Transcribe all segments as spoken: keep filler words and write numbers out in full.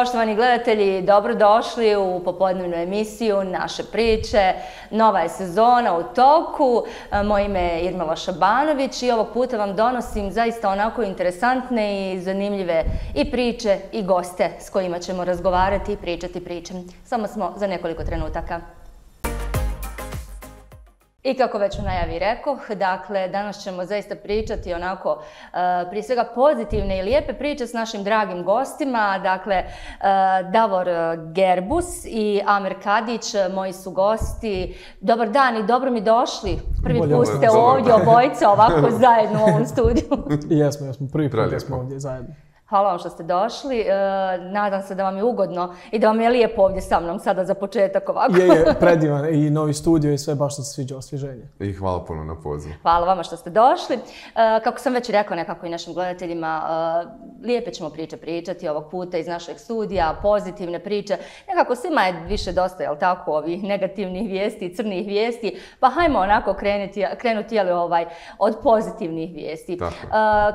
Poštovani gledatelji, dobrodošli u popodnevnu emisiju Naše priče. Nova je sezona u toku. Moje ime je Irmela Šabanović i ovog puta vam donosim zaista onako interesantne i zanimljive i priče i goste s kojima ćemo razgovarati i pričati priče. Samo smo za nekoliko trenutaka. I kako već u najavi rekoh, dakle, danas ćemo zaista pričati onako, prije svega pozitivne i lijepe priče s našim dragim gostima. Dakle, Davor Gerbus i Amer Kadić, moji su gosti. Dobar dan i dobro mi došli. Prvi put ste ovdje obojice ovako zajedno u ovom studiju. Jesmo, jesmo. Prvi put da smo ovdje zajedno. Hvala vam što ste došli. Nadam se da vam je ugodno i da vam je lijepo ovdje sa mnom sada za početak ovako. Je, je, predivan i novi studio i sve, baš se sviđa osvježenje. I hvala puno na pozivu. Hvala vama što ste došli. Kako sam već rekao nekako i našim gledateljima, lijepe ćemo priče pričati ovog puta iz našeg studija, pozitivne priče. Nekako svima je više dosta, jel tako, ovih negativnih vijesti, crnih vijesti, pa hajmo onako krenuti, krenuti jel, ovaj, od pozitivnih vijesti.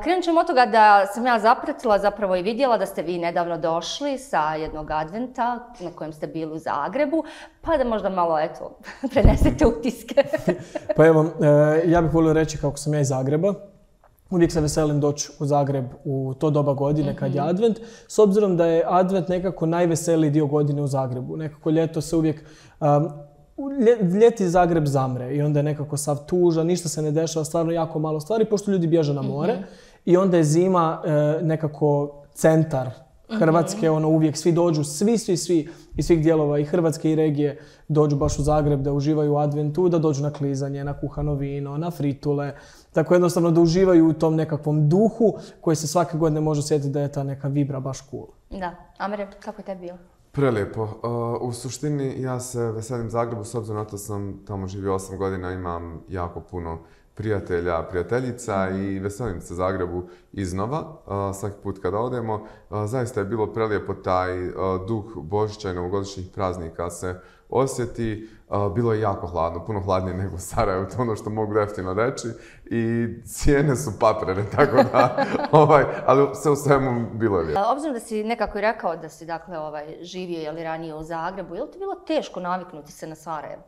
Krenut ćemo od toga da sam ja zapratila zapravo i vidjela da ste vi nedavno došli sa jednog adventa na kojem ste bili u Zagrebu, pa da možda malo, eto, prenesete utiske. Pa evo, ja bih volio reći kako sam ja iz Zagreba. Uvijek se veselim doći u Zagreb u to doba godine kad je advent, s obzirom da je advent nekako najveseliji dio godine u Zagrebu. Nekako ljeto se uvijek... Um, Ljeti Zagreb zamre i onda je nekako sav tužan, ništa se ne dešava, stvarno jako malo stvari, pošto ljudi bježe na more. Mm-hmm. I onda je zima e, nekako centar Hrvatske, mm-hmm. ono uvijek svi dođu, svi, svi, svi iz svih dijelova i Hrvatske i regije dođu baš u Zagreb da uživaju u adventu, da dođu na klizanje, na kuhano vino, na fritule. Tako jednostavno da uživaju u tom nekakvom duhu koji se svake godine može osjetiti da je ta neka vibra baš cool. Da. Amere, kako je tebi bilo? Prelijepo. Uh, u suštini ja se veselim Zagrebu, s obzirom na to sam tamo živio osam godina, imam jako puno prijatelja, prijateljica i veselim se Zagrebu iznova, uh, svaki put kada odemo. Uh, zaista je bilo prelijepo taj uh, duh Božića i novogodišnjih praznika se osjeti. Uh, bilo je jako hladno, puno hladnije nego u Sarajevu, to je ono što mogu jeftino reći. I cijene su paprene, tako da, ovaj, ali sve u svemu bilo je lijepo. Obzirom da si nekako i rekao da si dakle, ovaj, živio jeli, ranije u Zagrebu, je li ti bilo teško naviknuti se na Sarajevo?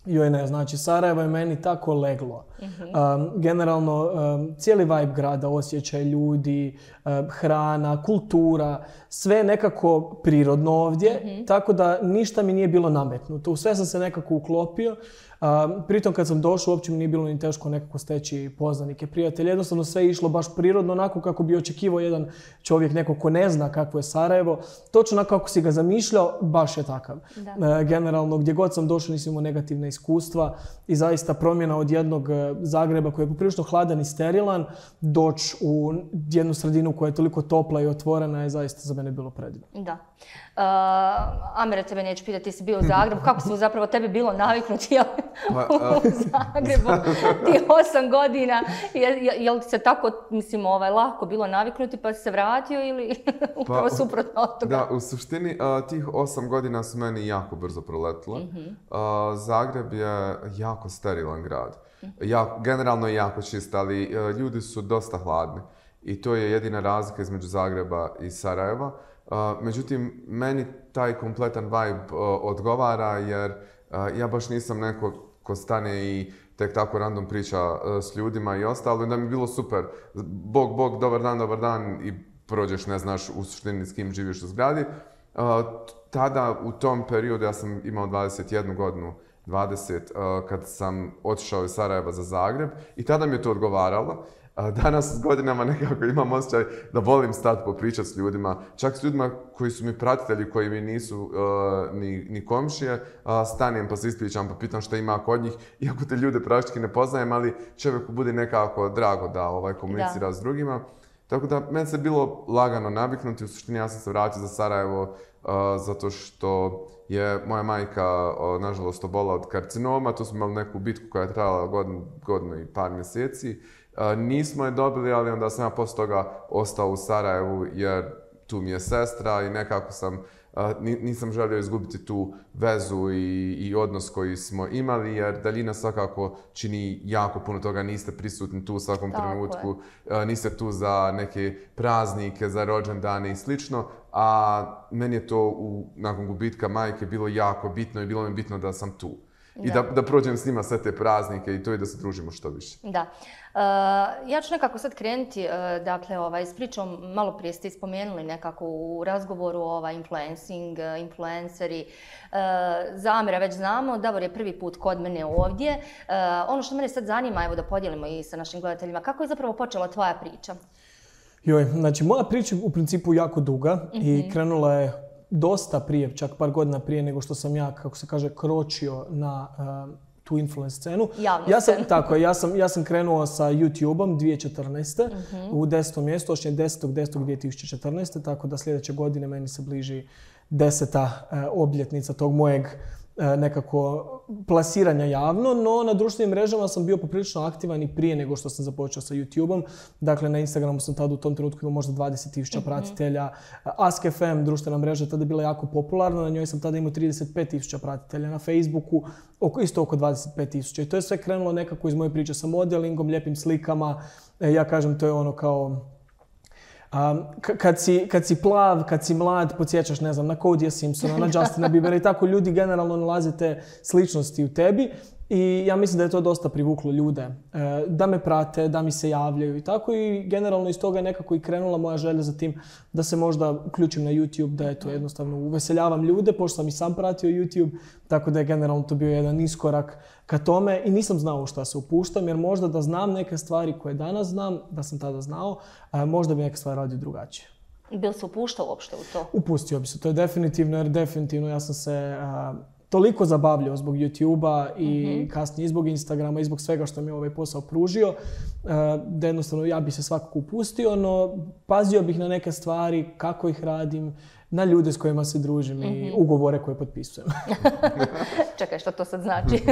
Joj ne, znači Sarajevo je meni tako leglo. Mm-hmm. Um, generalno, um, cijeli vibe grada, osjećaj ljudi, um, hrana, kultura, sve nekako prirodno ovdje, mm-hmm. tako da ništa mi nije bilo nametnuto. U sve sam se nekako uklopio. Um, pritom kad sam došao, uopće mi nije bilo ni teško nekako steći poznanike, prijatelje. Jednostavno sve je išlo baš prirodno, onako kako bi očekivao jedan čovjek, neko ko ne zna kakvo je Sarajevo. Točno onako kako si ga zamišljao, baš je takav. Uh, generalno, gdje god sam došao nisam imao negativne iskustva i zaista promjena od jednog Zagreba koji je poprilično hladan i sterilan, doći u jednu sredinu koja je toliko topla i otvorena je zaista za mene bilo predivno. Da. Uh, Amere, tebe neću pitati, ti si bio u Zagrebu, kako su zapravo tebi bilo naviknuti jel, u Zagrebu ti osam godina, je, je, je li se tako, mislim, ovaj, lako bilo naviknuti pa si se vratio ili upravo pa, suprotno od toga? Da, u suštini uh, tih osam godina su meni jako brzo proletile. Mm-hmm. Uh, Zagreb je jako sterilan grad. Mm-hmm. Ja, generalno je jako čist, ali uh, ljudi su dosta hladni i to je jedina razlika između Zagreba i Sarajeva. Uh, međutim, meni taj kompletan vibe uh, odgovara jer uh, ja baš nisam neko ko stane i tek tako random priča uh, s ljudima i ostalo. Da mi je bilo super. Bog, bog, dobar dan, dobar dan i prođeš, ne znaš u suštini s kim živiš u zgradi. Uh, tada, u tom periodu, ja sam imao dvadeset jednu godinu, dvadeset, uh, kad sam otišao iz Sarajeva za Zagreb i tada mi je to odgovaralo. Danas s godinama nekako imam osjećaj da volim stati popričati s ljudima, čak s ljudima koji su mi pratitelji, koji mi nisu uh, ni, ni komšije, uh, stanem pa se ispričam pa pitam šta ima kod njih, iako te ljude praktički ne poznajem, ali čovjeku bude nekako drago da ovaj, komunicira da. S drugima. Tako da, meni se bilo lagano naviknuti, u suštini ja sam se vratio za Sarajevo uh, zato što je moja majka, uh, nažalost, obola od karcinoma, tu smo imali neku bitku koja je trajala godinu, godinu i par mjeseci. Uh, nismo je dobili, ali onda sam ja poslije toga ostao u Sarajevu jer tu mi je sestra i nekako sam, nisam želio izgubiti tu vezu i, i odnos koji smo imali, jer daljina svakako čini jako puno toga, niste prisutni tu u svakom Tako trenutku, je. Niste tu za neke praznike, za rođendane i slično, a meni je to u, nakon gubitka majke bilo jako bitno i bilo mi bitno da sam tu. I da. Da, da prođem s njima sve te praznike i to i da se družimo što više. Da. Uh, ja ću nekako sad krenuti, uh, dakle, ovaj, s pričom, malo prije ste spomenuli nekako u razgovoru ovaj, influencing, uh, influenceri. Uh, za Amira već znamo, Davor je prvi put kod mene ovdje. Uh, ono što mene sad zanima, evo da podijelimo i sa našim gledateljima, kako je zapravo počela tvoja priča? Joj, znači moja priča u principu jako duga mm-hmm. i krenula je dosta prije, čak par godina prije nego što sam ja, kako se kaže, kročio na uh, tu influence scenu. Javnu ja sam, scenu. Tako, ja sam, ja sam krenuo sa YouTubeom dvije tisuće četrnaeste. Mm-hmm. u desetom mjestu, točnije desetog desetog dvije tisuće četrnaeste. Tako da sljedeće godine meni se bliži deseta uh, obljetnica tog mojeg uh, nekako plasiranja javno, no na društvenim mrežama sam bio poprilično aktivan i prije nego što sam započeo sa YouTubeom. Dakle, na Instagramu sam tada u tom trenutku imao možda dvadeset tisuća mm-hmm. pratitelja. Ask F M, društvena mreža, tada je bila jako popularna, na njoj sam tada imao trideset pet tisuća pratitelja. Na Facebooku oko, isto oko dvadeset pet tisuća. I to je sve krenulo nekako iz moje priče sa modelingom, lijepim slikama. E, ja kažem, to je ono kao... Um, kad, si, kad si plav, kad si mlad, podsjećaš, ne znam, na Codyja Simpsona, na Justina Biebera i tako ljudi generalno nalaze te sličnosti u tebi i ja mislim da je to dosta privuklo ljude, e, da me prate, da mi se javljaju i tako i generalno iz toga je nekako i krenula moja želja za tim da se možda uključim na YouTube, da je to jednostavno uveseljavam ljude, pošto sam i sam pratio YouTube, tako da je generalno to bio jedan iskorak ka tome i nisam znao u šta se upuštam, jer možda da znam neke stvari koje danas znam, da sam tada znao, a možda bi neke stvari radio drugačije. Bil se upuštao uopšte u to? Upustio bi se, to je definitivno, jer definitivno ja sam se a, toliko zabavljao zbog YouTube-a i mm-hmm. kasnije i zbog Instagrama i zbog svega što mi je ovaj posao pružio, a, da jednostavno ja bi se svakako upustio, no pazio bih na neke stvari, kako ih radim, na ljude s kojima se družim mm-hmm. i ugovore koje potpisujem. Čekaj, što to sad znači?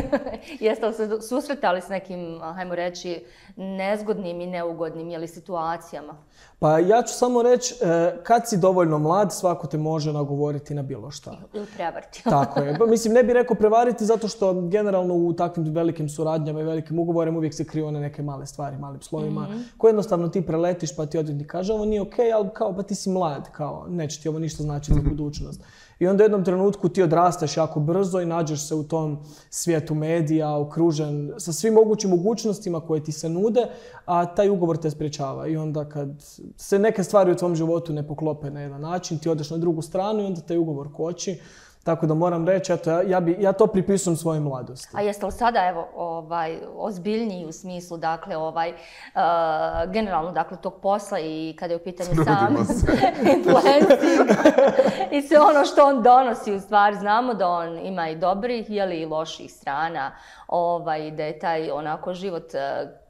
Jeste li se susretali s nekim, hajmo reći, nezgodnim i neugodnim jeli, situacijama? Pa ja ću samo reći, kad si dovoljno mlad, svako te može nagovoriti na bilo šta. Ili prevariti. Tako je. Mislim, ne bih rekao prevariti zato što generalno u takvim velikim suradnjama i velikim ugovorima uvijek se kriju one neke male stvari, malim slovima, mm-hmm. koje jednostavno ti preletiš pa ti odvjetnik kaže ovo nije okej, okay, ali kao pa ti si mlad, kao neće ti ovo ništa znači za budućnost. I onda u jednom trenutku ti odrastaš jako brzo i nađeš se u tom svijetu medija, okružen sa svim mogućim mogućnostima koje ti se nude, a taj ugovor te sprječava. I onda kad se neke stvari u tvom životu ne poklope na jedan način, ti odeš na drugu stranu i onda taj ugovor koči. Tako da moram reći, eto, ja, ja, bi, ja to pripisujem svojoj mladosti. A jeste li sada evo, ovaj, ozbiljniji u smislu, dakle, ovaj, uh, generalno, dakle, tog posla i kada je u pitanju sam influencing i sve ono što on donosi, u stvari, znamo da on ima i dobrih, jeli, i loših strana, ovaj, da je taj onako život,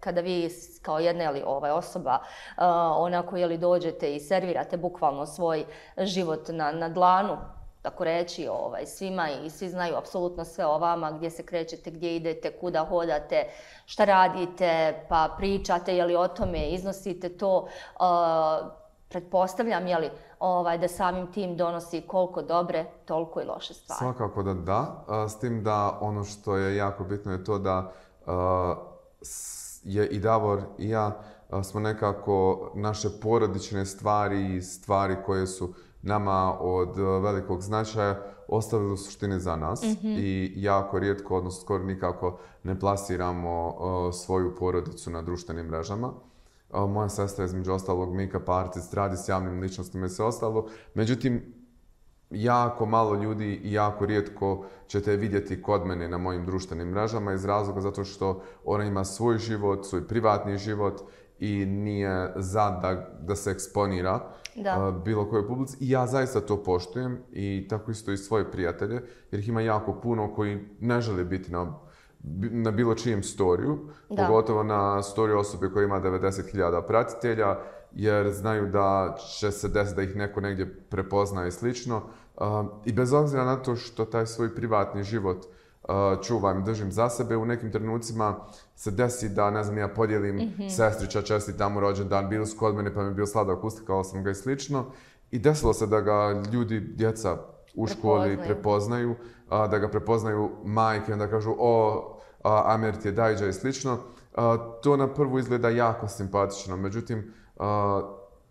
kada vi kao jedna jeli, ovaj, osoba uh, onako jeli, dođete i servirate bukvalno svoj život na, na dlanu, tako reći, ovaj, svima i svi znaju apsolutno sve o vama, gdje se krećete, gdje idete, kuda hodate, šta radite, pa pričate je li o tome, iznosite to. Uh, pretpostavljam je li, ovaj, da samim tim donosi koliko dobre, toliko i loše stvari. Svakako da da, s tim da ono što je jako bitno je to da uh, je i Davor i ja uh, smo nekako naše porodične stvari i stvari koje su nama od velikog značaja ostavili u suštini za nas mm-hmm. i jako rijetko, odnosno skoro nikako ne plasiramo uh, svoju porodicu na društvenim mrežama. Uh, moja sestra je između ostalog make-up artist, radi s javnim ličnostima i sve ostalo. Međutim, jako malo ljudi i jako rijetko ćete vidjeti kod mene na mojim društvenim mrežama iz razloga zato što ona ima svoj život, svoj privatni život i nije za da, da se eksponira uh, bilo kojoj publici. I ja zaista to poštujem i tako isto i svoje prijatelje, jer ih ima jako puno koji ne žele biti na, na bilo čijem storiju, da. Pogotovo na storiju osobe koja ima devedeset hiljada pratitelja, jer znaju da će se desiti da ih neko negdje prepozna i slično. Uh, I bez obzira na to što taj svoj privatni život uh, čuvam i držim za sebe, u nekim trenucima se desi da, ne znam, ja podijelim mm-hmm. sestrića, čestitam mu rođendan, bili su kod mene pa mi je bio sladak, uslikao sam ga i slično. i desilo se da ga ljudi, djeca u školi prepoznaju, a, da ga prepoznaju majke, onda kažu o, a, Amer ti je dajđa i slično. A, to na prvu izgleda jako simpatično, međutim, a,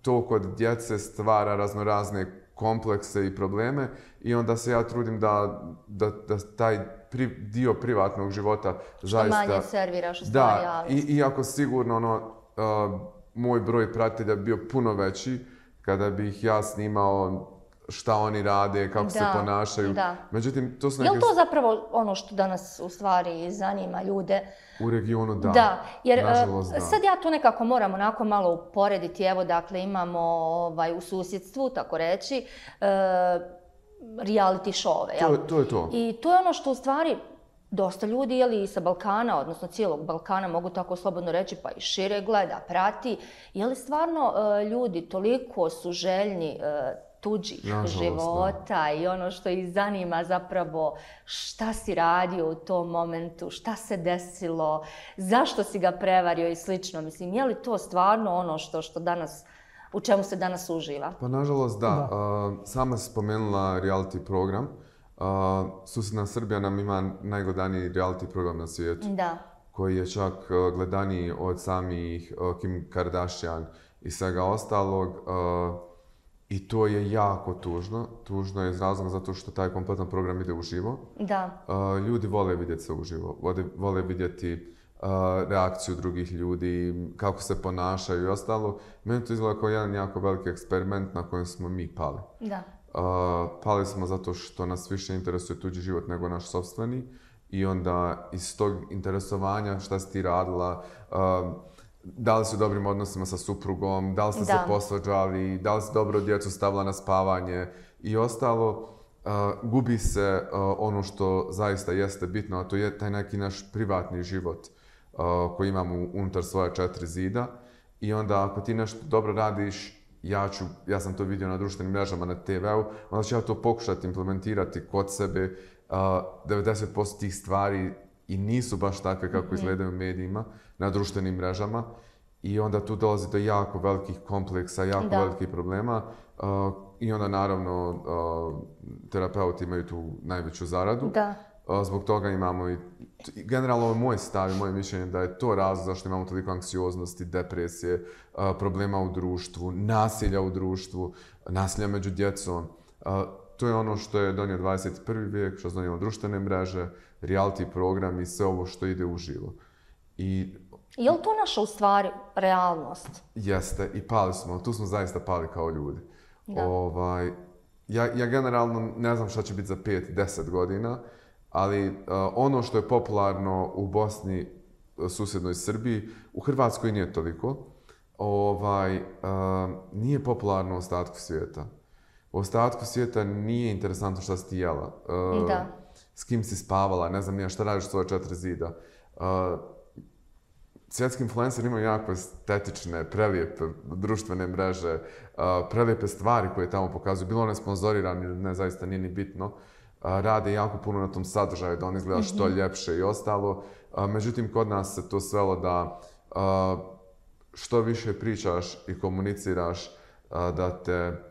to kod djece stvara raznorazne komplekse i probleme i onda se ja trudim da, da, da taj pri, dio privatnog života što zaista... manje serviraš u stvari. Da, i, iako sigurno ono, uh, moj broj pratitelja bio puno veći kada bih ja snimao šta oni rade, kako da, se ponašaju. Da. Međutim, to su neke... neke... Je li to zapravo ono što danas u stvari zanima ljude? U regionu da. Da, jer nažalost, da. sad ja to nekako moram onako malo uporediti. Evo, dakle, imamo ovaj, u susjedstvu, tako reći, uh, reality show-ove. To, to je to. I to je ono što u stvari dosta ljudi, jeli, sa Balkana, odnosno cijelog Balkana, mogu tako slobodno reći, pa i šire gleda, prati. Je li stvarno uh, ljudi toliko su željni uh, tuđih nažalost, života da. I ono što ih zanima zapravo šta si radio u tom momentu, šta se desilo, zašto si ga prevario i slično. Mislim, je li to stvarno ono što, što danas, u čemu se danas uživa? Pa nažalost da. da. Uh, sama si spomenula reality program. Uh, susjedna Srbija nam ima najgledaniji reality program na svijetu. Da. Koji je čak uh, gledaniji od samih uh, Kim Kardashian i svega ostalog. Uh, I to je jako tužno. Tužno je iz razloga zato što taj kompletan program ide uživo. Da. Uh, ljudi vole vidjeti se uživo. Vole, vole vidjeti uh, reakciju drugih ljudi, kako se ponašaju i ostalo. Meni to izgleda kao jedan jako veliki eksperiment na kojem smo mi pali. Da. Uh, pali smo zato što nas više interesuje tuđi život nego naš sopstveni. I onda iz tog interesovanja šta si ti radila, uh, da li si u dobrim odnosima sa suprugom, da li ste da. se posvađali, da li si dobro djecu stavila na spavanje i ostalo. Uh, gubi se uh, ono što zaista jeste bitno, a to je taj neki naš privatni život uh, koji imamo unutar svoja četiri zida. I onda ako ti nešto dobro radiš, ja, ću, ja sam to vidio na društvenim mrežama, na te veu, onda ću ja to pokušati implementirati kod sebe. Uh, devedeset posto tih stvari i nisu baš takve kako izgledaju u medijima, na društvenim mrežama. I onda tu dolazi do jako velikih kompleksa, jako da. velikih problema. Uh, I onda naravno uh, terapeuti imaju tu najveću zaradu. Da. Uh, zbog toga imamo i, generalno ovo je moj stav i moje mišljenje da je to razlog zašto imamo toliko anksioznosti, depresije, uh, problema u društvu, nasilja u društvu, nasilja među djecom. Uh, to je ono što je donio dvadeset prvi vijek, što je donijelo društvene mreže, reality program i sve ovo što ide uživo. I je li to naša u stvari realnost? Jeste, i pali smo, tu smo zaista pali kao ljudi. Ovaj, ja, ja generalno ne znam šta će biti za pet, deset godina, ali uh, ono što je popularno u Bosni, susjednoj Srbiji, u Hrvatskoj nije toliko, ovaj, uh, nije popularno u ostatku svijeta. U ostatku svijeta nije interesantno šta si ti jela, uh, da. s kim si spavala, ne znam nije šta radiš svoje četiri zida. Uh, Svjetski influenceri imaju jako estetične, prelijepe društvene mreže, uh, prelijepe stvari koje tamo pokazuju. Bilo one sponzorirane ili ne, zaista nije ni bitno. Uh, rade jako puno na tom sadržaju, da on izgleda što mm-hmm. ljepše i ostalo. Uh, međutim, kod nas se to svelo da uh, što više pričaš i komuniciraš, uh, da te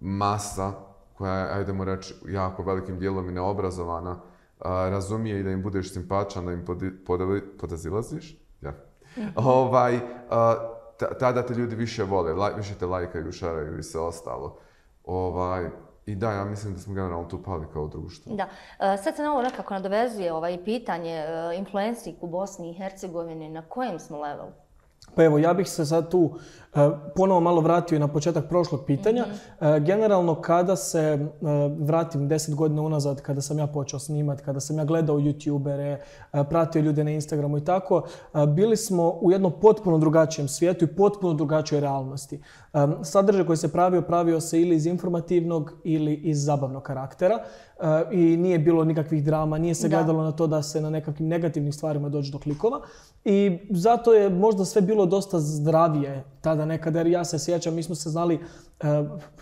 masa, koja je, ajdemo reći, jako velikim dijelom i neobrazovana, uh, razumije i da im budeš simpatičan, da im podazilaziš. Ja. Mm-hmm. Ovaj, uh, tada te ljudi više vole, laj, više te lajkaju, šaraju i sve ostalo. Ovaj, I da, ja mislim da smo generalno tu pali kao društvo. Da. Uh, sad se na ovo nekako nadovezuje ovaj pitanje uh, influencing u Bosni i Hercegovini, na kojem smo levelu? Pa evo, ja bih se sad tu uh, ponovo malo vratio i na početak prošlog pitanja. Mm-hmm. Uh, generalno, kada se uh, vratim deset godina unazad, kada sam ja počeo snimati, kada sam ja gledao youtubere, uh, pratio ljude na Instagramu i tako, uh, bili smo u jednom potpuno drugačijem svijetu i potpuno drugačijoj realnosti. Um, sadržaj koji se pravio, pravio se ili iz informativnog ili iz zabavnog karaktera. Uh, I nije bilo nikakvih drama, nije se da. gledalo na to da se na nekakvim negativnim stvarima dođe do klikova. I zato je možda sve bilo dosta zdravije tada nekada, jer ja se sjećam, mi smo se znali,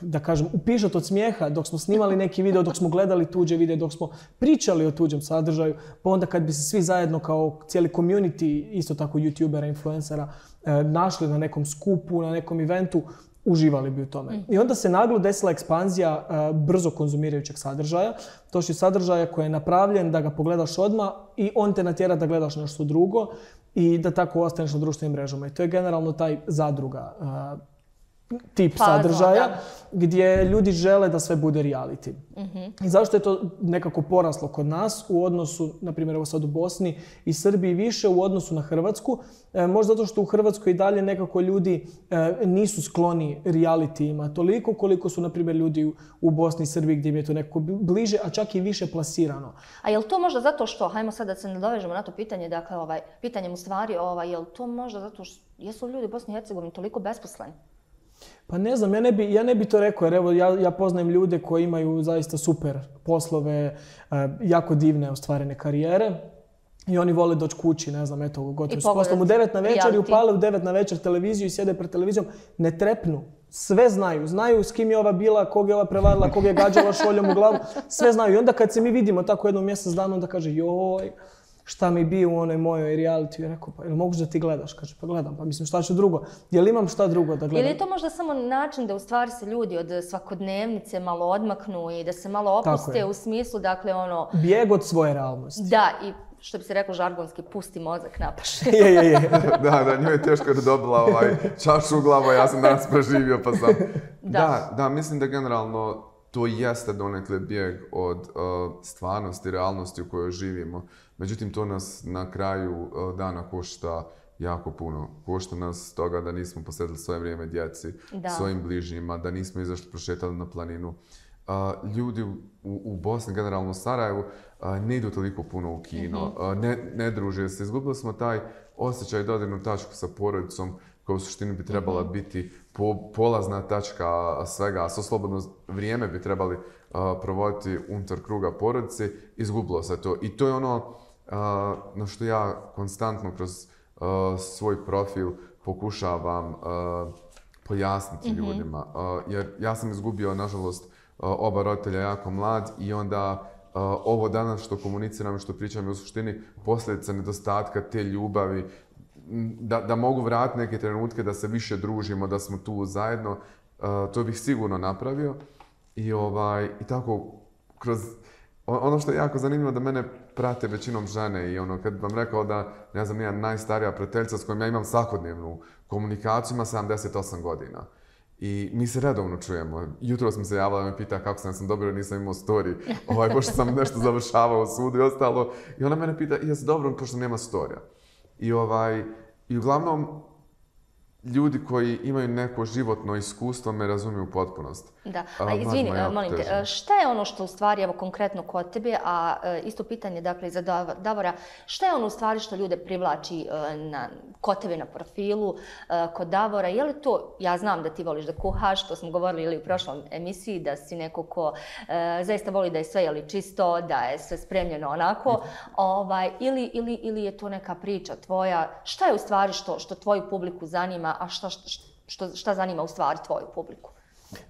da kažem, upišati od smijeha dok smo snimali neki video, dok smo gledali tuđe video, dok smo pričali o tuđem sadržaju, pa onda kad bi se svi zajedno kao cijeli community, isto tako youtubera, influencera, našli na nekom skupu, na nekom eventu, uživali bi u tome. Mm. I onda se naglo desila ekspanzija uh, brzo konzumirajućeg sadržaja. To je sadržaja koji je napravljen da ga pogledaš odmah i on te natjera da gledaš nešto drugo i da tako ostaneš na društvenim mrežama. I to je generalno taj zadruga uh, tip Puzzle, sadržaja da. gdje ljudi žele da sve bude reality. Mm-hmm. I zašto je to nekako poraslo kod nas u odnosu, na primjer, evo sad u Bosni i Srbiji više u odnosu na Hrvatsku? E, možda zato što u Hrvatskoj i dalje nekako ljudi e, nisu skloni realityima toliko koliko su, na primjer, ljudi u, u Bosni i Srbiji gdje im je to nekako bliže, a čak i više plasirano. A je li to možda zato što, hajmo sad da se nadovežemo na to pitanje, dakle, ovaj, pitanjem u stvari, ovaj, je li to možda zato što jesu ljudi u Bosni i Hercegovini toliko besposleni? Pa ne znam, ja ne bi, ja ne bi to rekao jer evo ja, ja poznajem ljude koji imaju zaista super poslove, jako divne ostvarene karijere i oni vole doći kući, ne znam, eto, gotovo s poslom u devet na večer i upale u devet na večer televiziju i sjede pred televizijom, ne trepnu. Sve znaju. Znaju s kim je ova bila, kog je ova prevarila, kog je gađala šoljom u glavu. Sve znaju. I onda kad se mi vidimo tako jednom mjesec dana, onda kaže joj, šta mi bi u onoj mojoj reality. Ja rekao, pa jel moguće da ti gledaš? Kaže, pa gledam. Pa mislim, šta ću drugo? Jel imam šta drugo da gledam? Ili je to možda samo način da u stvari se ljudi od svakodnevnice malo odmaknu i da se malo opuste u smislu, dakle, ono... bijeg od svoje realnosti. Da, i što bi se reklo žargonski, pusti mozak na paše. je, je, je. da, da, njoj je teško da dobila ovaj čašu u glavu, ja sam danas preživio pa sam... Da. da, da, mislim da generalno to jeste donekle bijeg od uh, stvarnosti, realnosti u kojoj živimo. Međutim, to nas na kraju uh, dana košta jako puno. Košta nas toga da nismo posvetili svoje vrijeme djeci, da. svojim bližnjima, da nismo izašli prošetali na planinu. Uh, ljudi u, u Bosni, generalno u Sarajevu, uh, ne idu toliko puno u kino, mm-hmm. uh, ne, ne druže se. Izgubili smo taj osjećaj dodirnu tačku sa porodicom koja u suštini bi trebala mm-hmm. biti po, polazna tačka svega, a svo slobodno vrijeme bi trebali uh, provoditi unutar kruga porodice. Izgubilo se to. I to je ono uh, na što ja konstantno kroz uh, svoj profil pokušavam uh, pojasniti mm-hmm. ljudima. Uh, jer ja sam izgubio, nažalost, oba roditelja jako mlad i onda uh, ovo danas što komuniciram i što pričam je u suštini posljedica nedostatka te ljubavi, da, da mogu vratiti neke trenutke, da se više družimo, da smo tu zajedno, uh, to bih sigurno napravio. I, ovaj, i tako, kroz ono što je jako zanimljivo da mene prate većinom žene i ono, kad vam rekao da, ne znam, ja najstarija prijateljica s kojom ja imam svakodnevnu komunikaciju, ima sedamdeset osam godina. I mi se redovno čujemo. Jutro sam se javila da me pita kako sam, sam dobro, nisam imao story, ovaj, pošto sam nešto završavao u sudu i ostalo. I ona mene pita, jesi dobro, pošto nema storija. I, ovaj, i uglavnom, ljudi koji imaju neko životno iskustvo me razumiju u potpunosti. Da, a izvini, molim te, šta je ono što u stvari, evo konkretno kod tebe, a isto pitanje dakle i za Davora, šta je ono u stvari što ljude privlači na, kod tebe na profilu, kod Davora, je li to, ja znam da ti voliš da kuhaš, to smo govorili ili u prošlom emisiji, da si neko ko e, zaista voli da je sve jeli čisto, da je sve spremljeno onako, ovaj, ili, ili, ili je to neka priča tvoja, šta je u stvari što, što tvoju publiku zanima, a šta, šta, šta zanima u stvari tvoju publiku?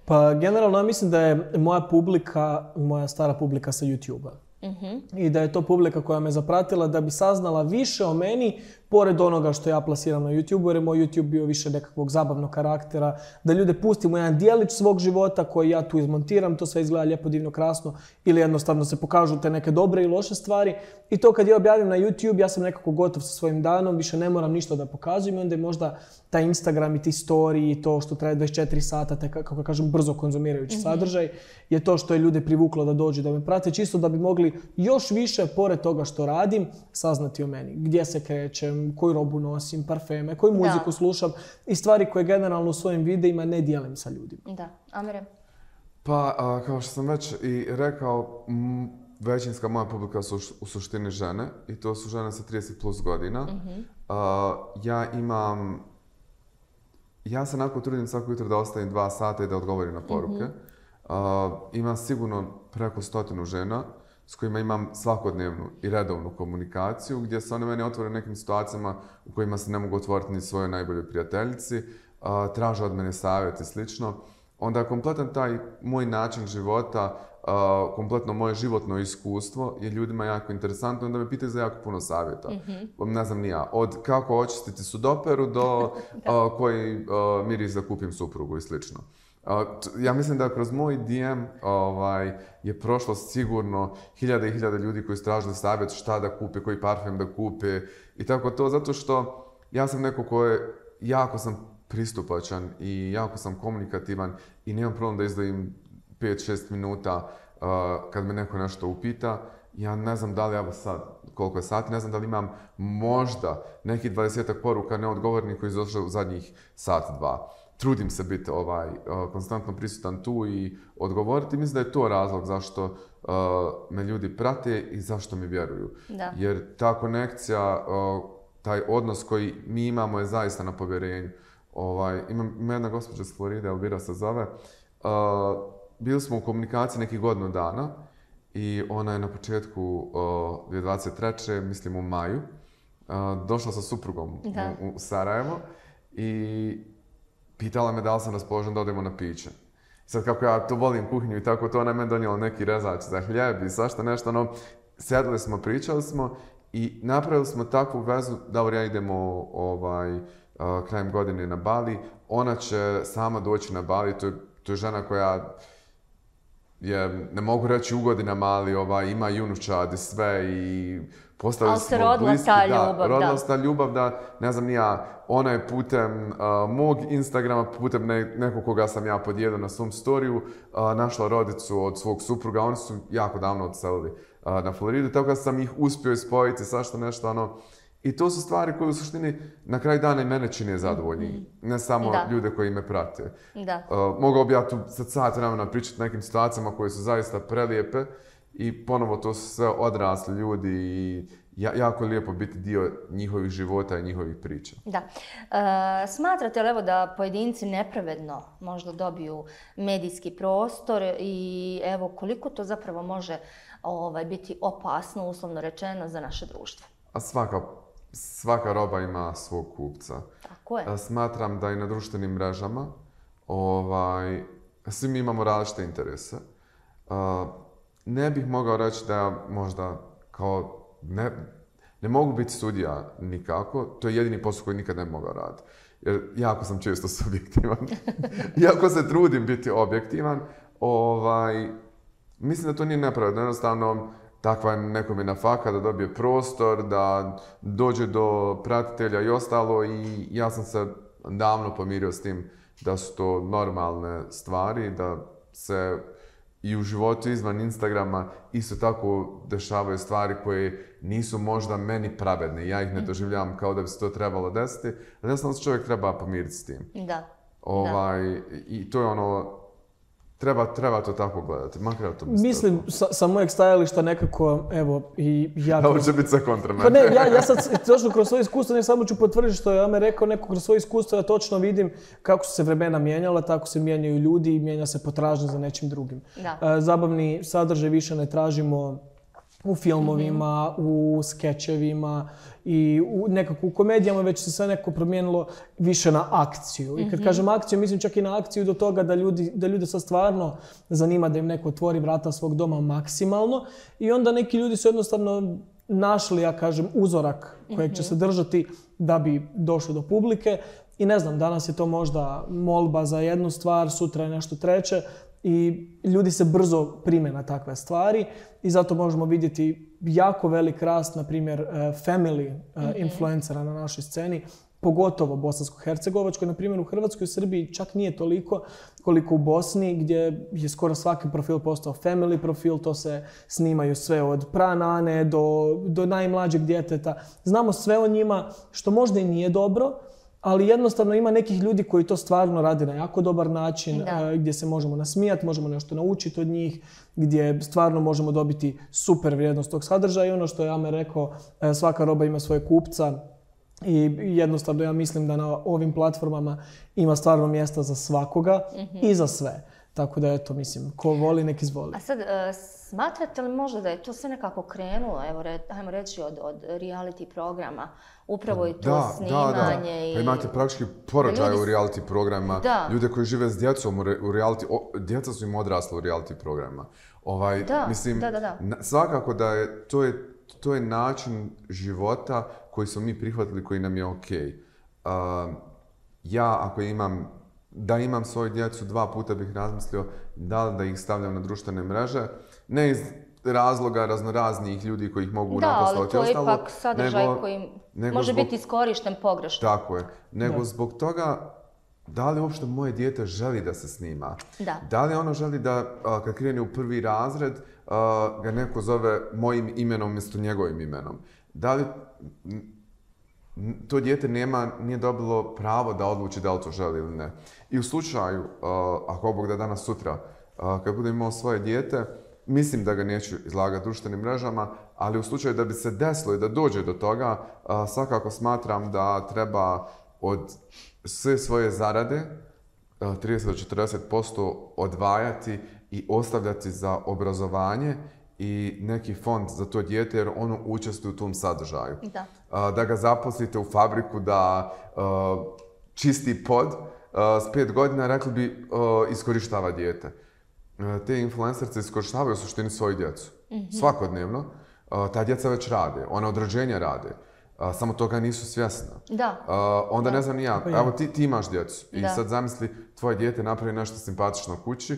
Pa generalno ja mislim da je moja publika, moja stara publika sa YouTube-a. Mm-hmm. I da je to publika koja me zapratila da bi saznala više o meni pored onoga što ja plasiram na YouTube, jer je moj YouTube bio više nekakvog zabavnog karaktera, da ljude pustim u jedan dijelić svog života koji ja tu izmontiram, to sve izgleda lijepo, divno, krasno, ili jednostavno se pokažu te neke dobre i loše stvari. I to kad ja objavim na YouTube, ja sam nekako gotov sa svojim danom, više ne moram ništa da pokazujem i onda je možda taj Instagram i ti story i to što traje dvadeset četiri sata, te kako kažem brzo konzumirajući mm-hmm. sadržaj, je to što je ljude privuklo da dođu da me prate, čisto da bi mogli još više, pored toga što radim, saznati o meni. Gdje se krećem, koju robu nosim, parfeme, koju muziku da. slušam i stvari koje generalno u svojim videima ne dijelim sa ljudima. Da, Amire? Pa, a, kao što sam već i rekao, m, većinska moja publika su u suštini žene i to su žene sa trideset plus godina. Mm-hmm. A, ja imam, ja se onako trudim svako jutro da ostavim dva sata i da odgovorim na poruke. Mm-hmm. A, ima sigurno preko stotinu žena s kojima imam svakodnevnu i redovnu komunikaciju, gdje se one mene otvore nekim situacijama u kojima se ne mogu otvoriti ni svojoj najboljoj prijateljici, a, traže od mene savjet i slično. Onda kompletan taj moj način života uh, kompletno moje životno iskustvo je ljudima jako interesantno i onda me pitaju za jako puno savjeta. Mm-hmm. Ne znam ni ja, od kako očistiti sudoperu do uh, koji uh, miris da kupim suprugu i slično. Uh, ja mislim da kroz moj D M ovaj, je prošlo sigurno hiljade i hiljade ljudi koji su tražili savjet šta da kupe, koji parfem da kupe i tako to, zato što ja sam neko ko je, jako sam pristupačan i jako sam komunikativan i nemam problem da izdvojim pet šest minuta uh, kad me neko nešto upita. Ja ne znam da li ja sad, koliko je sati, ne znam da li imam možda nekih dvadesetak poruka neodgovornih koji izašli u zadnjih sat, dva. Trudim se biti ovaj, uh, konstantno prisutan tu i odgovoriti. Mislim da je to razlog zašto uh, me ljudi prate i zašto mi vjeruju. Da. Jer ta konekcija, uh, taj odnos koji mi imamo je zaista na povjerenju. Ovaj, imam, ima jedna gospođa s Floride, Elvira se zove. Uh, bili smo u komunikaciji nekih godinu dana i ona je na početku uh, dvije tisuće dvadeset treće mislim u maju, uh, došla sa suprugom u, u Sarajevo i pitala me da li sam raspoložen da odemo na piće. Sad kako ja to volim kuhinju i tako to, ona je meni donijela neki rezač za hljeb i svašta nešto, no, sjedili smo, pričali smo i napravili smo takvu vezu da ja idemo ovaj, uh, krajem godine na Bali. Ona će sama doći na Bali, to je, to je žena koja je, ne mogu reći u godinama, ali ovaj, ima i unučad i sve i postali smo rodila bliski. Ta da, ljubav, rodila da. se ta ljubav da, ne znam ni ja, ona je putem uh, mog Instagrama, putem ne, nekog koga sam ja podijelio na svom storiju, uh, našla rodicu od svog supruga. Oni su jako davno odselili uh, na Floridu, tako da sam ih uspio ispojiti, svašta nešto, ono. I to su stvari koje u suštini na kraju dana i mene čine zadovoljni, mm-hmm. ne samo da. Ljude koji me prate. Da. Uh, mogao bi ja tu sad sat vremena pričati o nekim situacijama koje su zaista prelijepe i ponovo to su sve odrasli ljudi i ja, jako je lijepo biti dio njihovih života i njihovih priča. Da. E, smatrate li evo da pojedinci nepravedno možda dobiju medijski prostor i evo koliko to zapravo može ovaj, biti opasno, uslovno rečeno, za naše društvo? A svaka Svaka roba ima svog kupca. Tako je. Smatram da i na društvenim mrežama ovaj, svi mi imamo različite interese. Uh, ne bih mogao reći da ja možda kao ne, ne mogu biti sudija nikako. To je jedini posao koji nikad ne bi mogao raditi. Jer jako sam često subjektivan. Iako se trudim biti objektivan, ovaj, mislim da to nije nepravedno. Jednostavno, takva je nekom je na faka da dobije prostor, da dođe do pratitelja i ostalo i ja sam se davno pomirio s tim da su to normalne stvari, da se i u životu izvan Instagrama isto tako dešavaju stvari koje nisu možda meni pravedne. Ja ih ne doživljavam kao da bi se to trebalo desiti, ali jednostavno se čovjek treba pomiriti s tim. Da. Ovaj, da. I to je ono, Treba, treba to tako gledati, makar ja to mislim. Sa, sa mojeg stajališta nekako, evo, i ja... Ovo će biti sve kontra mene. Pa ne, ja, ja sad točno kroz svoje iskustvo, ne samo ću potvrditi što je Amer rekao, neko kroz svoje iskustvo, ja točno vidim kako su se vremena mijenjala, tako se mijenjaju ljudi i mijenja se potražnja za nečim drugim. Da. Zabavni sadržaj više ne tražimo u filmovima, mm-hmm. u skečevima i u nekako u komedijama, već se sve nekako promijenilo više na akciju. Mm-hmm. I kad kažem akciju, mislim čak i na akciju do toga da ljudi, da ljude sad stvarno zanima da im neko otvori vrata svog doma maksimalno i onda neki ljudi su jednostavno našli, ja kažem, uzorak kojeg će se držati da bi došli do publike. I ne znam, danas je to možda molba za jednu stvar, sutra je nešto treće. I ljudi se brzo prime na takve stvari i zato možemo vidjeti jako velik rast, na primjer, family mm-hmm. influencera na našoj sceni, pogotovo bosansko-hercegovačkoj. Na primjer, u Hrvatskoj i Srbiji čak nije toliko koliko u Bosni, gdje je skoro svaki profil postao family profil, to se snimaju sve od pranane do, do najmlađeg djeteta. Znamo sve o njima, što možda i nije dobro, ali jednostavno ima nekih ljudi koji to stvarno rade na jako dobar način, da. Gdje se možemo nasmijati, možemo nešto naučiti od njih, gdje stvarno možemo dobiti super vrijednost tog sadržaja i ono što je Amer rekao, svaka roba ima svoje kupca i jednostavno ja mislim da na ovim platformama ima stvarno mjesta za svakoga mm-hmm. i za sve. Tako da eto, mislim, ko voli nek izvoli. A sad, e, smatrate li možda da je to sve nekako krenulo, evo, re, ajmo reći, od, od reality programa, upravo i to da, snimanje da, da. i... Pa imate praktički porođaje ljudi... u reality programima, da. ljude koji žive s djecom u, re, u reality, o, djeca su im odrasla u reality programima. Ovaj, da, mislim, da, da, da. Na, svakako da je to, je, to je način života koji smo mi prihvatili, koji nam je okej. Uh, ja, ako imam, da imam svoju djecu, dva puta bih razmislio da li da ih stavljam na društvene mreže, ne iz razloga raznoraznih ljudi koji ih mogu naposlovati. Da, ali to je ipak sadržaj nego, koji nego može zbog, biti iskorišten pogrešno. Tako je. Nego da. Zbog toga, da li uopšte moje dijete želi da se snima? Da. Da li ono želi da, kad krene u prvi razred, ga neko zove mojim imenom umjesto njegovim imenom? Da li to dijete nema, nije dobilo pravo da odluči da li to želi ili ne? I u slučaju, ako Bog da danas sutra, kad budem imao svoje dijete, mislim da ga neću izlagati društvenim mrežama, ali u slučaju da bi se desilo i da dođe do toga, svakako smatram da treba od sve svoje zarade trideset do četrdeset posto odvajati i ostavljati za obrazovanje i neki fond za to dijete, jer ono učestvuje u tom sadržaju. Da. Da ga zaposlite u fabriku da čisti pod, s pet godina rekli bi iskorištava dijete. Te influencerce iskorištavaju u suštini svoju djecu. Mm-hmm. Svakodnevno. Ta djeca već rade, ona od rođenja rade. Samo toga nisu svjesna. Da. Onda da. ne znam ni ja, evo ti, ti imaš djecu i da. sad zamisli tvoje dijete napravi nešto simpatično u kući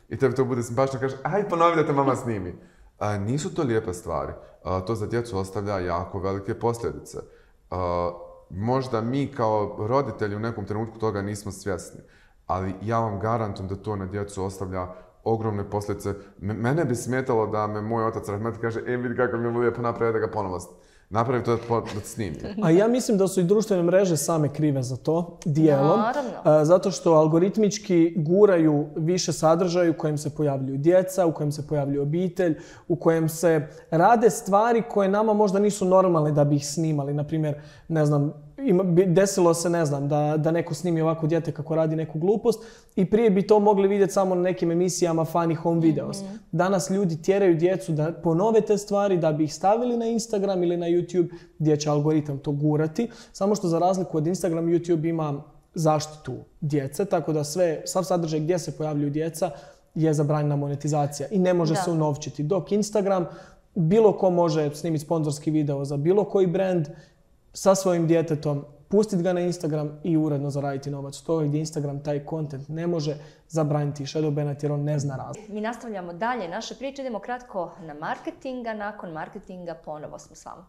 i tebi to bude simpatično, kaže aj ponovi da te mama snimi. A, nisu to lijepe stvari. A, to za djecu ostavlja jako velike posljedice. A, možda mi kao roditelji u nekom trenutku toga nismo svjesni, ali ja vam garantujem da to na djecu ostavlja ogromne posljedice. M- mene bi smetalo da me moj otac rahmetli kaže e vidi kako mi je lijepo napravi da ga ponovo napravi to da, da snimi. A ja mislim da su i društvene mreže same krive za to, dijelom. Naravno. Zato što algoritmički guraju više sadržaja u kojem se pojavljuju djeca, u kojem se pojavljuje obitelj, u kojem se rade stvari koje nama možda nisu normalne da bi ih snimali. Naprimjer, ne znam, ima, desilo se, ne znam, da, da neko snimi ovako dijete kako radi neku glupost i prije bi to mogli vidjeti samo na nekim emisijama funny home videos. Mm-hmm. Danas ljudi tjeraju djecu da ponove te stvari, da bi ih stavili na Instagram ili na YouTube gdje će algoritam to gurati. Samo što za razliku od Instagram, YouTube ima zaštitu djece, tako da sve, sav sadržaj gdje se pojavljuju djeca je zabranjena monetizacija i ne može da. se unovčiti. Dok Instagram, bilo ko može snimiti sponzorski video za bilo koji brand sa svojim djetetom, pustiti ga na Instagram i uredno zaraditi novac. To je gdje Instagram taj content ne može zabraniti shadow banati jer on ne zna razlog. Mi nastavljamo dalje naše priče, idemo kratko na marketinga, nakon marketinga ponovo smo s vama.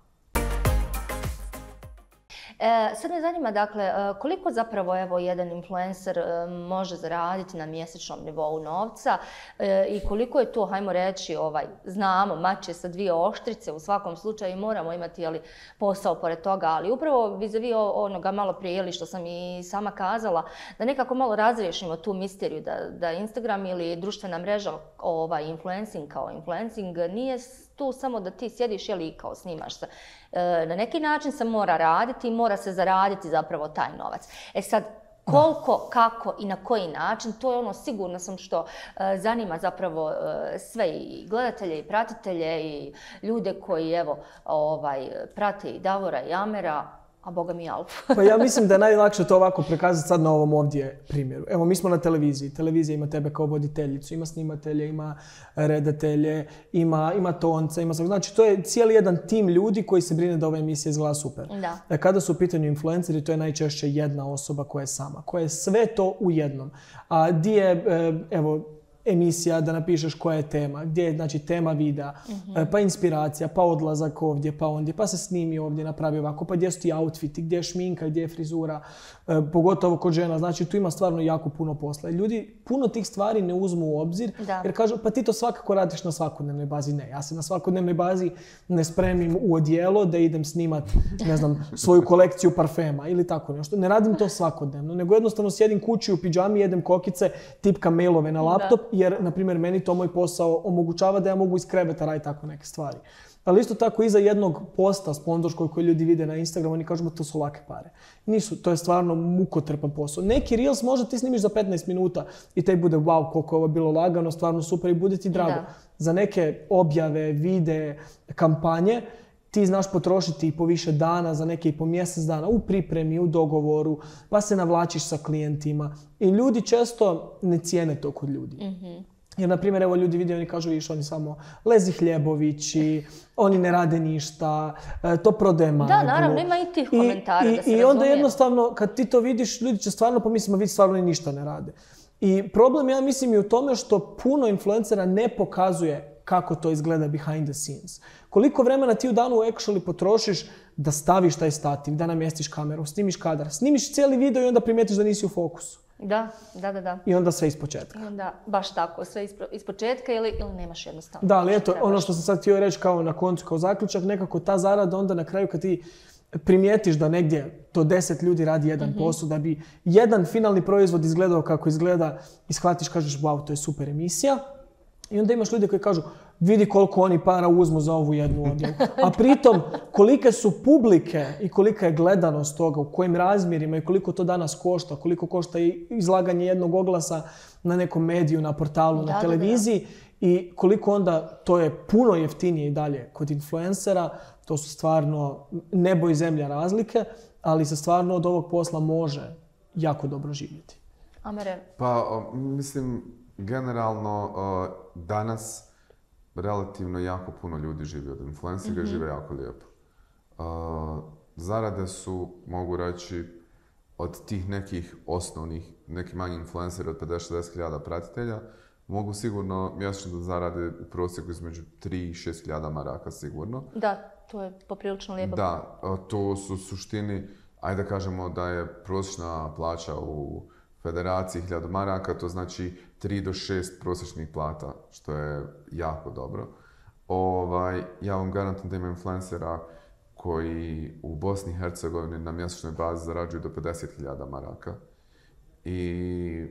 E, sad me zanima, dakle, koliko zapravo evo, jedan influencer e, može zaraditi na mjesečnom nivou novca e, i koliko je to, hajmo reći, ovaj, znamo, mač je sa dvije oštrice u svakom slučaju i moramo imati jeli, posao pored toga, ali upravo vis-a-vis onoga malo prije, jeli, što sam i sama kazala, da nekako malo razriješimo tu misteriju, da, da Instagram ili društvena mreža, ovaj, influencing kao influencing, nije tu samo da ti sjediš jeli, kao snimaš se. E, na neki način se mora raditi i mora se zaraditi zapravo taj novac. E sad, koliko, kako i na koji način, to je ono sigurno sam što e, zanima zapravo e, sve i gledatelje i pratitelje i ljude koji evo ovaj, prate i Davora i Amera, a boga mi Alfu. Pa ja mislim da je najlakše to ovako prikazati sad na ovom ovdje primjeru. Evo, mi smo na televiziji. Televizija ima tebe kao voditeljicu, ima snimatelje, ima redatelje, ima, ima tonca, ima... Znači, to je cijeli jedan tim ljudi koji se brine da ova emisija izgleda super. Da. Kada su u pitanju influenceri, to je najčešće jedna osoba koja je sama, koja je sve to u jednom. A di je, evo, emisija da napišeš koja je tema, gdje je znači tema videa, mm-hmm. pa inspiracija, pa odlazak ovdje, pa ondje, pa se snimi ovdje, napravi ovako, pa gdje su ti outfiti, gdje je šminka, gdje je frizura, e, pogotovo kod žena, znači tu ima stvarno jako puno posla. Ljudi puno tih stvari ne uzmu u obzir, da. jer kažu pa ti to svakako radiš na svakodnevnoj bazi. Ne, ja se na svakodnevnoj bazi ne spremim u odijelo da idem snimat, ne znam, svoju kolekciju parfema ili tako nešto. Ne radim to svakodnevno, nego jednostavno sjedim kući u pidžami, jedem kokice, tipkam mailove na laptop. Da. jer, na primjer, meni to moj posao omogućava da ja mogu iz kreveta raditi tako neke stvari. Ali isto tako iza jednog posta sponzorskog koji ljudi vide na Instagramu, oni kažu da to su lake pare. Nisu, to je stvarno mukotrpan posao. Neki Reels možda ti snimiš za petnaest minuta i te bude wow, koliko je ovo bilo lagano, stvarno super i bude ti drago. Da. Za neke objave, videe, kampanje, ti znaš potrošiti i po više dana, za neke i po mjesec dana, u pripremi, u dogovoru, pa se navlačiš sa klijentima. I ljudi često ne cijene to kod ljudi. Mm-hmm. Jer, na primjer, evo ljudi vide, oni kažu, viš, oni samo lezi hljebovići, oni ne rade ništa, to prodaje maglu. Da, naravno, ima i tih komentara, I, da se i, I onda razumije. jednostavno, kad ti to vidiš, ljudi će stvarno pomisliti, ma vidi, stvarno oni ništa ne rade. I problem, ja mislim, je u tome što puno influencera ne pokazuje kako to izgleda behind the scenes. Koliko vremena ti u danu actually potrošiš da staviš taj stativ, da namjestiš kameru, snimiš kadar, snimiš cijeli video i onda primijetiš da nisi u fokusu. Da, da, da, da. I onda sve ispočetka. I onda baš tako, sve ispočetka ili, ili nemaš jednostavno. Da, ali eto, ono što sam sad htio reći kao na koncu, kao zaključak, nekako ta zarada onda na kraju kad ti primijetiš da negdje to deset ljudi radi jedan mm-hmm. posao, da bi jedan finalni proizvod izgledao kako izgleda i shvatiš, kažeš, wow, to je super emisija. I onda imaš ljude koji kažu, vidi koliko oni para uzmu za ovu jednu objavu. A pritom, kolike su publike i kolika je gledanost toga, u kojim razmjerima i koliko to danas košta, koliko košta i izlaganje jednog oglasa na nekom mediju, na portalu, da, na televiziji. Da, da. I koliko onda to je puno jeftinije i dalje kod influencera. To su stvarno nebo i zemlja razlike, ali se stvarno od ovog posla može jako dobro živjeti. Amere? Pa, mislim, generalno danas relativno jako puno ljudi živi od influencera mm-hmm. i žive jako lijepo. Zarade su, mogu reći, od tih nekih osnovnih, neki manji influenceri od pedeset do šezdeset hiljada pratitelja, mogu sigurno mjesečno da zarade u prosjeku između tri i šest hiljada maraka sigurno. Da, to je poprilično lijepo. Da, to su u suštini, ajde da kažemo da je prosječna plaća u federaciji hiljadu maraka, to znači tri do šest prosječnih plata, što je jako dobro. Ovaj, ja vam garantujem da ima influencera koji u Bosni i Hercegovini na mjesečnoj bazi zarađuju do pedeset hiljada maraka. I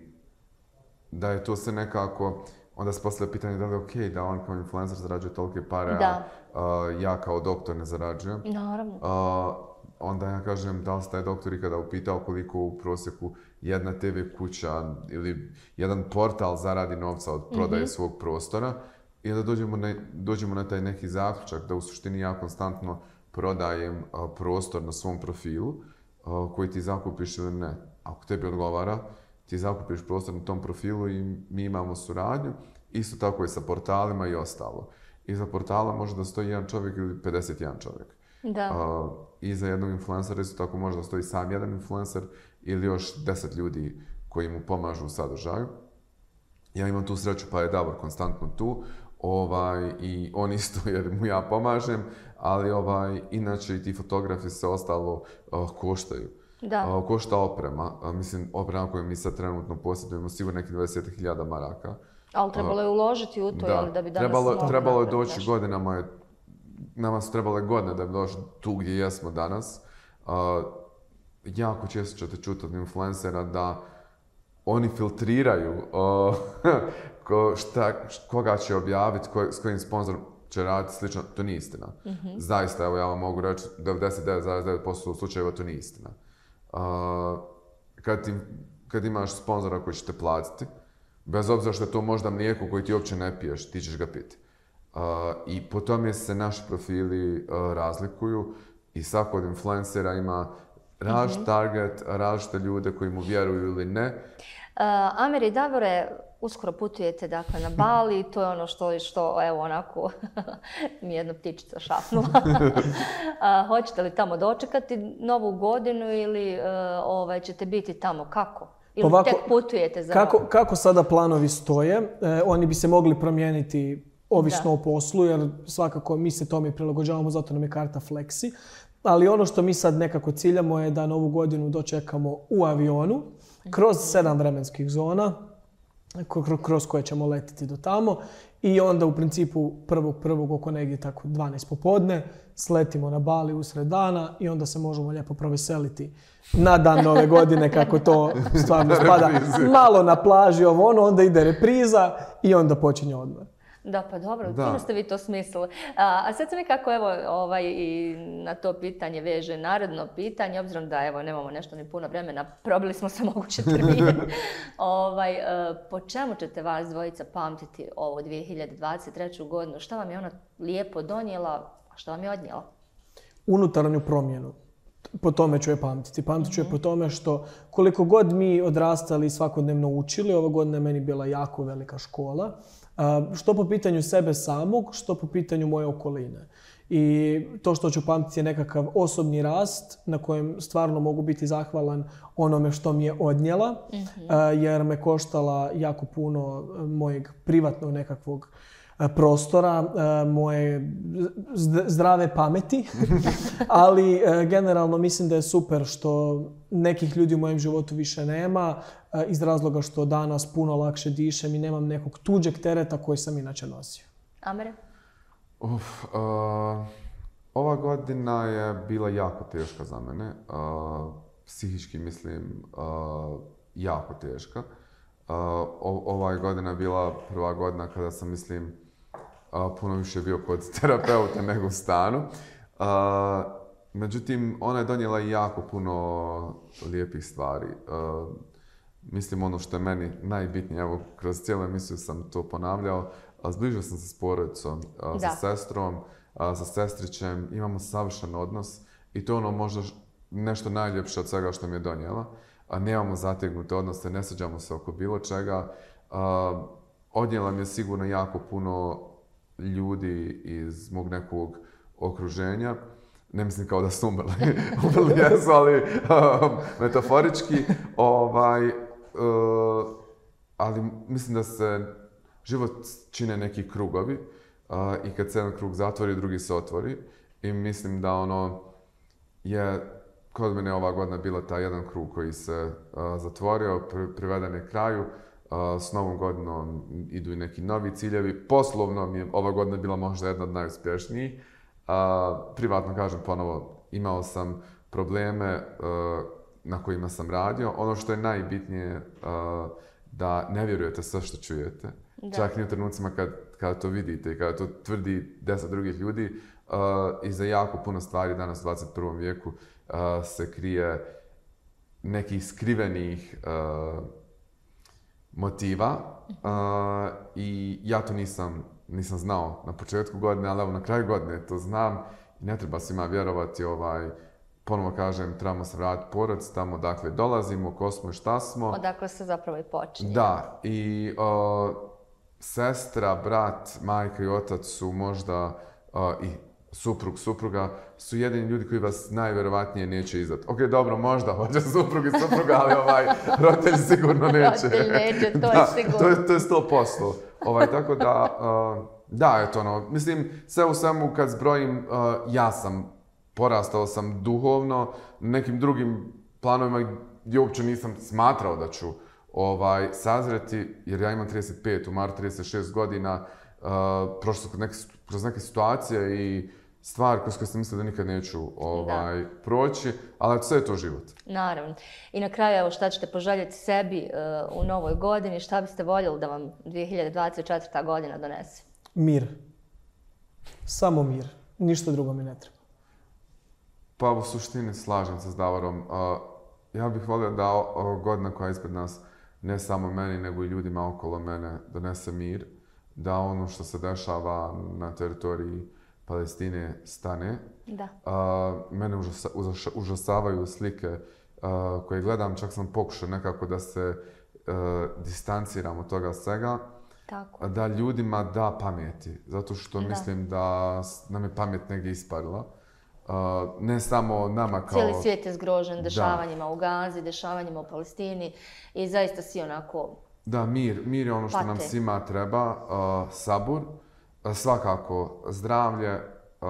da je to se nekako, onda se postavlja pitanje da li je okej da on kao influencer zarađuje tolike pare, a uh, ja kao doktor ne zarađujem. Naravno. Uh, onda ja kažem da li se taj doktor ikada upitao koliko u prosjeku jedna te ve kuća ili jedan portal zaradi novca od prodaje mm-hmm. svog prostora i da dođemo na, dođemo na taj neki zaključak da u suštini ja konstantno prodajem uh, prostor na svom profilu uh, koji ti zakupiš ili ne. Ako tebi odgovara, ti zakupiš prostor na tom profilu i mi imamo suradnju. Isto tako i sa portalima i ostalo. Iza portala može da stoji jedan čovjek ili pedeset jedan čovjek. Da. Uh, iza jednog influencera isto tako može da stoji sam jedan influencer ili još deset ljudi koji mu pomažu u sadržaju. Ja imam tu sreću pa je Davor konstantno tu ovaj, i on isto jer mu ja pomažem, ali ovaj, inače i ti fotografi se ostalo uh, koštaju. Da. Uh, košta oprema. Uh, mislim, oprema koju mi sad trenutno posjedujemo sigurno nekih dvadeset hiljada maraka. Ali trebalo je uložiti u to, da. Jel, da bi danas trebalo, mogli trebalo je doći nešto. godinama, je, nama su trebale godine da bi došli tu gdje jesmo danas. Uh, jako često ćete čuti od influencera da oni filtriraju uh, ko, šta, koga će objaviti, ko, s kojim sponzorom će raditi, slično. To nije istina. Mm-hmm. Zaista, evo ja vam mogu reći, devedeset devet zarez devet posto slučajeva to nije istina. Uh, kad, ti, kad imaš sponzora koji će te platiti, bez obzira što je to možda mlijeko koji ti uopće ne piješ, ti ćeš ga piti. Uh, I po tome se naši profili uh, razlikuju i svako od influencera ima različit mm-hmm. target, različite ljude koji mu vjeruju ili ne. Uh, Amer i Davore, uskoro putujete dakle, na Bali, to je ono što, što evo onako, mi jedna ptičica šapnula. uh, hoćete li tamo dočekati novu godinu ili uh, ovaj, ćete biti tamo kako? Ili ovako, tek putujete za kako, kako sada planovi stoje? E, oni bi se mogli promijeniti ovisno da. o poslu, jer svakako mi se tome prilagođavamo, zato nam je karta Flexi. Ali ono što mi sad nekako ciljamo je da novu godinu dočekamo u avionu, kroz sedam vremenskih zona. kroz koje ćemo letiti do tamo. I onda u principu prvog prvog oko negdje tako dvanaest popodne sletimo na Bali usred dana i onda se možemo lijepo proveseliti na dan Nove godine kako to stvarno spada. Malo na plaži ovo ono, onda ide repriza i onda počinje odmor. Da, pa dobro, fino ste vi to smislili. A, a sad se nekako evo ovaj, i na to pitanje veže naredno pitanje, obzirom da evo nemamo nešto ni puno vremena, probili smo se moguće termine. ovaj, po čemu ćete vas dvojica pamtiti ovu dvije hiljade dvadeset treću godinu? Šta vam je ona lijepo donijela, a šta vam je odnijela? Unutarnju promjenu. Po tome ću je pamtiti. Pamtit ću je po tome što koliko god mi odrastali i svakodnevno učili, ova godina je meni bila jako velika škola. Što po pitanju sebe samog, što po pitanju moje okoline. I to što ću pamtiti je nekakav osobni rast na kojem stvarno mogu biti zahvalan onome što mi je odnijela, mm-hmm. jer me koštala jako puno mojeg privatnog nekakvog prostora, moje zdrave pameti, ali generalno mislim da je super što nekih ljudi u mojem životu više nema iz razloga što danas puno lakše dišem i nemam nekog tuđeg tereta koji sam inače nosio. Amere? Uf, uh, ova godina je bila jako teška za mene. Uh, psihički mislim uh, jako teška. Uh, ova godina je bila prva godina kada sam mislim Uh, puno više bio kod terapeuta nego u stanu. Uh, međutim, ona je donijela jako puno lijepih stvari. Uh, mislim, ono što je meni najbitnije, evo, kroz cijelu emisiju sam to ponavljao, uh, zbližio sam se s porodicom, uh, sa sestrom, uh, sa sestrićem, imamo savršen odnos i to je ono možda nešto najljepše od svega što mi je donijela. Uh, nemamo zategnute odnose, ne svađamo se oko bilo čega. Uh, odnijela mi je sigurno jako puno ljudi iz mog nekog okruženja. Ne mislim kao da su umrli, umrli jesu, ali um, metaforički. Ovaj, uh, ali mislim da se život čine neki krugovi uh, i kad se jedan krug zatvori, drugi se otvori. I mislim da ono je, kod mene ova godina bila taj jedan krug koji se uh, zatvorio, pri, priveden je kraju. Uh, s novom godinom idu i neki novi ciljevi. Poslovno mi je ova godina bila možda jedna od najuspješnijih. Uh, privatno kažem ponovo, imao sam probleme uh, na kojima sam radio. Ono što je najbitnije uh, da ne vjerujete sve što čujete. Da. Čak i u trenucima kad, kada to vidite i kada to tvrdi deset drugih ljudi. Uh, I za jako puno stvari danas u dvadeset prvom vijeku uh, se krije nekih skrivenih uh, motiva uh, i ja to nisam, nisam znao na početku godine, ali evo na kraju godine to znam i ne treba svima vjerovati. Ovaj, ponovo kažem, trebamo se vratiti porodici, tamo dakle dolazimo, ko smo i šta smo. Odakle se zapravo i počinje. Da, i uh, sestra, brat, majka i otac su možda uh, i suprug, supruga su jedini ljudi koji vas najvjerovatnije neće izdati. Ok, dobro, možda hoće suprug i supruga, ali ovaj roditelj sigurno neće. Roditelj neće, to da, je sigurno. To je, to je sto posto. Ovaj, tako da, uh, da, eto ono, mislim, sve u svemu kad zbrojim, uh, ja sam, porastao sam duhovno, nekim drugim planovima gdje uopće nisam smatrao da ću ovaj, sazreti, jer ja imam trideset pet, u martu trideset šest godina, uh, prošlo kroz neke, kroz neke situacije i stvari kroz koje sam mislila da nikad neću ovaj, proći, ali sve je to život. Naravno. I na kraju, evo, šta ćete poželjeti sebi uh, u novoj godini, šta biste voljeli da vam dvije hiljade dvadeset četvrta godina donese? Mir. Samo mir. Ništa drugo mi ne treba. Pa u suštini slažem se s Davorom. Uh, ja bih volio da ova godina koja je ispred nas ne samo meni, nego i ljudima okolo mene donese mir, da ono što se dešava na teritoriji Palestine stane. Da. Uh, mene užasa, užasa, užasavaju slike uh, koje gledam, čak sam pokušao nekako da se uh, distanciram od toga svega. Tako. Da ljudima da pameti, zato što da. Mislim da nam je pamet negdje isparila. Uh, ne samo nama kao... Cijeli svijet je zgrožen dešavanjima da. U Gazi, dešavanjima u Palestini i zaista svi onako... Da, mir. Mir je ono što pate. Nam svima treba. Uh, sabur. Svakako, zdravlje, uh,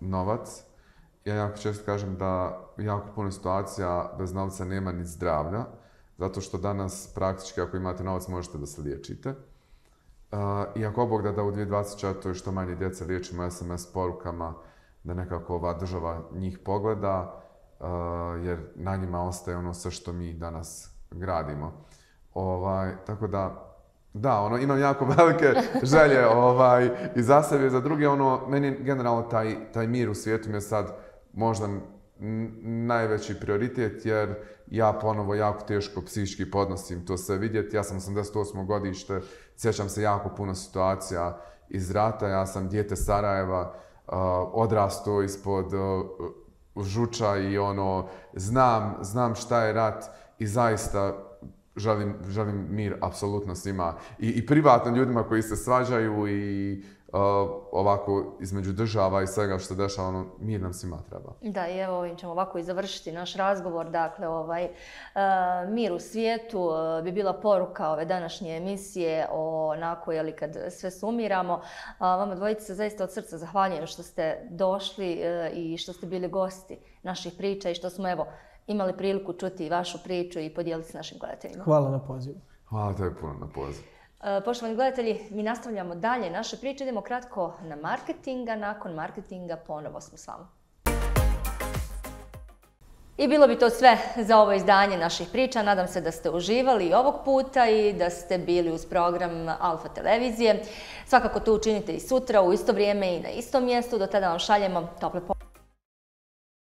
novac. Ja jako često kažem da jako puno situacija bez novca nema ni zdravlja. zato što danas praktički ako imate novac možete da se liječite. Uh, I ako Bog da da u dvije tisuće dvadeset četvrtoj što manje djece liječimo es em es porukama, da nekako ova država njih pogleda, uh, jer na njima ostaje ono sve što mi danas gradimo. Ovaj, tako da, da, ono, imam jako velike želje ovaj, i za sebe i za druge. Ono, meni generalno taj, taj mir u svijetu mi je sad možda najveći prioritet, jer ja ponovo jako teško psihički podnosim to sve vidjeti. Ja sam osamdeset osmo godište, sjećam se jako puno situacija iz rata. Ja sam dijete Sarajeva, uh, odrastao ispod uh, žuča i ono, znam, znam šta je rat i zaista želim, želim mir apsolutno svima. I, i privatno ljudima koji se svađaju i uh, ovako između država i svega što dešava, ono, mir nam svima treba. Da, i evo ovim ćemo ovako i završiti naš razgovor. Dakle, ovaj, uh, mir u svijetu uh, bi bila poruka ove današnje emisije, onako, jeli, kad sve sumiramo. Uh, vama dvojice se zaista od srca zahvaljujem što ste došli uh, i što ste bili gosti naših priča i što smo, evo, imali priliku čuti vašu priču i podijeliti s našim gledateljima. Hvala na pozivu. Hvala tebi puno na pozivu. Poštovani gledatelji, mi nastavljamo dalje naše priče. Idemo kratko na marketing, a nakon marketinga ponovo smo s vama. I bilo bi to sve za ovo izdanje naših priča. Nadam se da ste uživali i ovog puta i da ste bili uz program Alfa televizije. Svakako to učinite i sutra u isto vrijeme i na istom mjestu. Do tada vam šaljemo tople pozdrave.